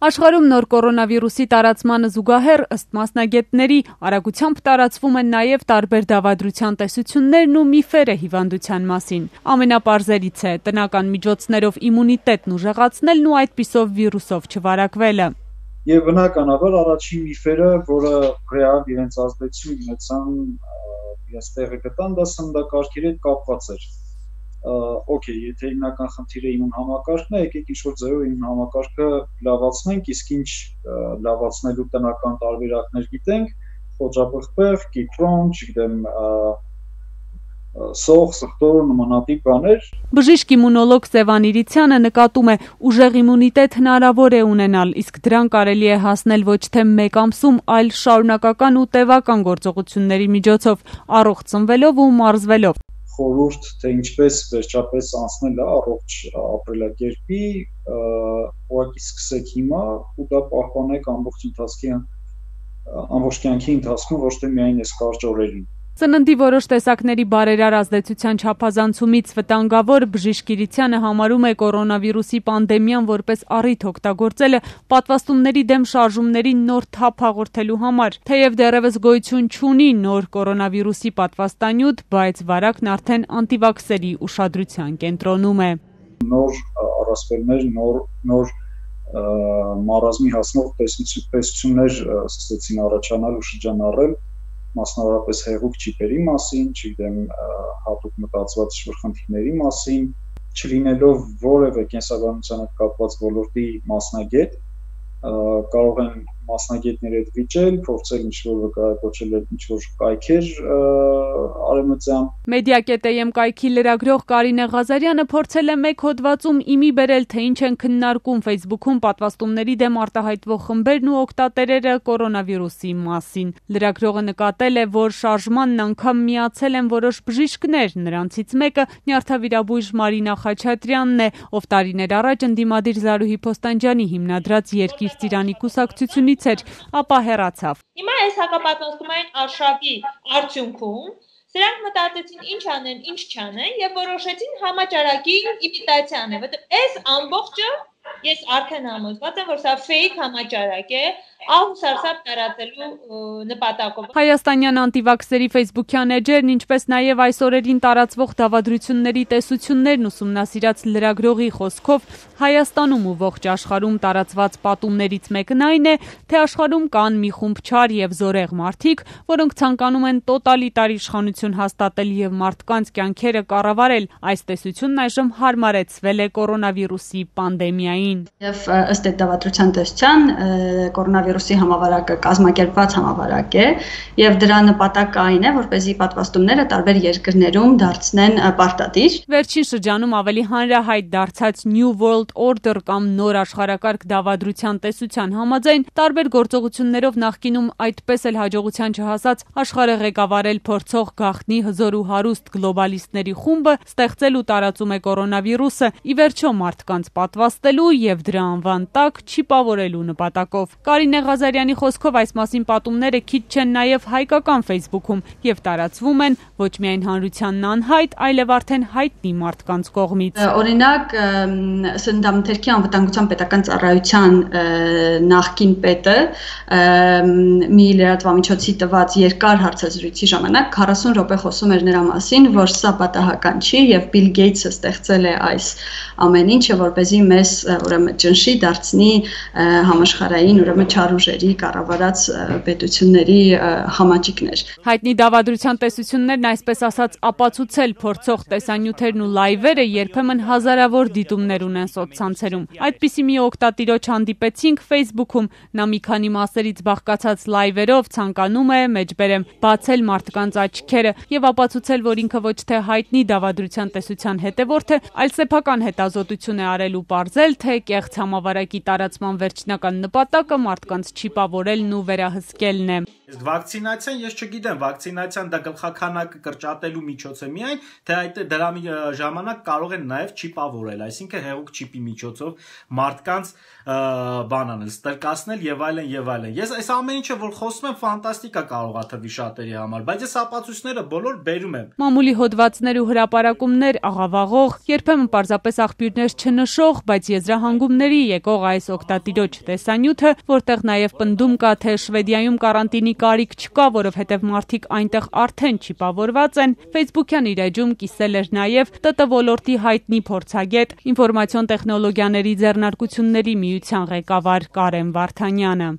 Աշխարհում նոր կորոնավիրուսի տարածմանը զուգահեռ, ըստ մասնագետների, արագությամբ տարածվում են նաև տարբեր դավադրության տեսություններն ու միֆերը հիվանդության մասին։ Ամենապարզերից է տնական միջոցներով իմունիտետն ուժեղացնելն ու այդպիսով վիրուսով չվարակվելը։ Եվ բնականաբար առաջին միֆերը, որը ռեալ իրենց ազդեցություն ունեցան, իրենց տեղը գտան, դա սննդակարգերի հետ կապված էր։ Okay, եթե հիմնական խնդիրը իմուն համակարգն է, եկեք ինչ-որ ձևով իմուն համակարգը լավացնենք, իսկ ինչ լավացնելու տնական տարբերակներ գիտենք, խոճապղպեղ, կիպրոն, չգիտեմ, սող, սխտոր, նմանատիպ բաներ։ Բժիշկ իմունոլոգ Սևան Իրիցյանը նկատում է, ուժեղ իմունիտետ հնարավոր է ունենալ, իսկ դրան կարելի է հասնել ոչ թե մեկ ամսում, այլ շարունակական ու տևական գործողությունների միջոցով, առողջ ծնվելով ու մարզվելով։ Խորհուրդ, թե ինչպես վերջապես անցնել առողջ ապրելակերպի, ուղղակի սկսեք հիմա ու դա պահպանեք ամբողջ կյանքի ընթացքում, ոչ թե միայն այս կարճ օրերին։ Սննդի որոշ տեսակների բարերար ազդեցության չափազանցումից վտանգավոր բժիշկ Իրիցյանը համարում է կորոնավիրուսի պանդեմիան որպես առիթ օգտագործելը պատվաստումների դեմ շարժումների նոր թափ հաղորդելու համար։ Թեև դեռևս գոյություն չունի նոր կորոնավիրուսի պատվաստանյութ, բայց վարակն արդեն անտիվաքսերի ուշադրության կենտրոնում է։ Նոր առասպելներ, նոր մարազմի հասնող տեսություններ սկսեցին առաջանալ ու շրջանառել, մասնավորապես հեղուկ չիպերի մասին, չգիտեմ, հատուկ մտածված խնդիրների մասին, չլինելով որևէ կենսաբանության հետ կապված ոլորտի մասնագետ, կարող են մասնագետների հետ վիճել, փորձել ինչ-որ վկայակոչել ինչ-որ կայքեր արևմտյան։ Մեդիա.am կայքի լրագրող Կարինե Ղազարյանը փորձել է մեկ հոդվածում իմի բերել, թե ինչ են քննարկում Facebook-ում պատվաստումների դեմ արտահայտվող խմբերն ու օգտատերերը կորոնավիրուսի մասին։ Լրագրողը նկատել է, որ շարժմանն անգամ միացել են որոշ բժիշկներ, նրանցից մեկը նյարդավիրաբույժ Մարինա Խաչատրյանն է, ով տարիներ առաջ ընդդիմադիր Զարուհի Փոստանջյանի հիմնադրած Երկիր Ծիրանի կուսակցությունից էր, ապա հեռացավ։ Հիմա այս հակապատասխանային արշավի արդյունքում սրանք մտածեցին ինչ անեն, ինչ չանեն եւ որոշեցին համաճարակի իմիտացիա անել, որտեղ այս ամբողջը ես արդեն համոզված եմ, որ սա fake համաճարակ է, ահուսարսափ տարածելու նպատակով։ Հայաստանյան անտիվաքսերի Facebook-յան էջերն, ինչպես նաև այս օրերին տարածվող դավադրությունների տեսություններն ուսումնասիրած լրագրողի խոսքով Հայաստանում ու ողջ աշխարհում տարածված պատումներից մեկն այն է, թե աշխարհում կան մի խումբ չար եւ զորեղ մարդիկ, որոնք ցանկանում են տոտալիտար իշխանություն հաստատել եւ մարդկանց կյանքերը կառավարել։ Այս տեսությունն այժմ հարմարեցվել է կորոնավիրուսի պանդեմիային։ Եվ ըստ այդ դավադրության տեսության կորոնավիրուսի համավարակը կազմակերպված համավարակ է եւ դրա նպատակը այն է, որպեսզի պատվաստումները տարբեր երկրներում դարձնեն պարտադիր։ Վերջին շրջանում ավելի հանրահայտ դարձած New World Order կամ նոր աշխարհակարգ դավադրության տեսության համաձայն տարբեր գործողություններով նախկինում այդպես էլ հաջողության չհասած աշխարհը ղեկավարել փորձող գաղտնի հզոր ու հարուստ գլոբալիստների խումբը ստեղծել ու տարածում է կորոնավիրուսը, ի վերջո մարդկանց պատվաստելու եւ դրա անվան տակ չիպավորելու նպատակով։ Կարինե Ղազարյանի խոսքով այս մասին պատումները քիչ չեն նաև հայկական Facebook-ում եւ տարածվում են ոչ միայն հանրությանն անհայտ, այլև արդեն հայտնի մարդկանց կողմից։ Օրինակ, Սննդամթերքի անվտանգության պետական ծառայության նախկին պետը մի լրատվամիջոցի տված երկար հարցազրույցի ժամանակ 40 րոպե խոսում էր նրա մասին, որ սա պատահական չի եւ Բիլ Գեյթսը ստեղծել է այս ամեն ինչը, որպեսզի մեզ ուրեմն ճնշի դարձնի համաշխարհային ուրեմն չար ուժերի կառավարած պետությունների համաճիկներ։ Հայտնի դավադրության տեսություններն այսպես ասած ապացուցել փորձող տեսանյութերն ու լայվերը երբեմն հազարավոր դիտումներ ունեն սոցցանցերում։ Այդպիսի մի օգտատիրոջ հանդիպեցինք Facebook-ում, նա մի քանի մասերից բաղկացած լայվերով ցանկանում է, մեջբերեմ, բացել մարդկանց աչքերը եւ ապացուցել, որ ինքը ոչ թե հայտնի դավադրության տեսության հետևորդ է, այլ սեփական հետազոտություն է արել ու պարզել, թե կեղծ համավարակի տարածման վերջնական նպատակը մարդկանց մարդկանց չիպավորելն ու վերահսկելն է։ Իսկ վակցինացիան, ես չգիտեմ, վակցինացիան դա գլխաքանակը կրճատելու միջոց է միայն, թե դրա ժամանակ կարող են նաև չիպավորել, այսինքն հեղուկ չիպի միջոցով մարդկանց ստրկացնել եւ այլն եւ այլն։ Ես այս ամեն ինչը որ խոսում եմ ֆանտաստիկա կարող է թվի շատերի համար, բայց ես ապացույցները բոլոր բերում եմ։ Մամուլի հոդվածներ ու հրապարակումներ աղավաղող, երբեմն պարզապես աղբյուրներ չնշող, բայց եզրահանգումների եկող այս օգտատիրոջ տեսանյութը, որտեղ նաև պնդում կա, թե Շվեդիայում կարանտինի կարիք չկա, որովհետև մարդիկ այնտեղ արդեն չիպավորված են, Facebook-յան իր էջում կիսել էր նաև ՏՏ ոլորտի հայտնի փորձագետ, ինֆորմացիոն տեխնոլոգիաների ձեռնարկությունների միության ղեկավար Կարեն Վարդանյանը։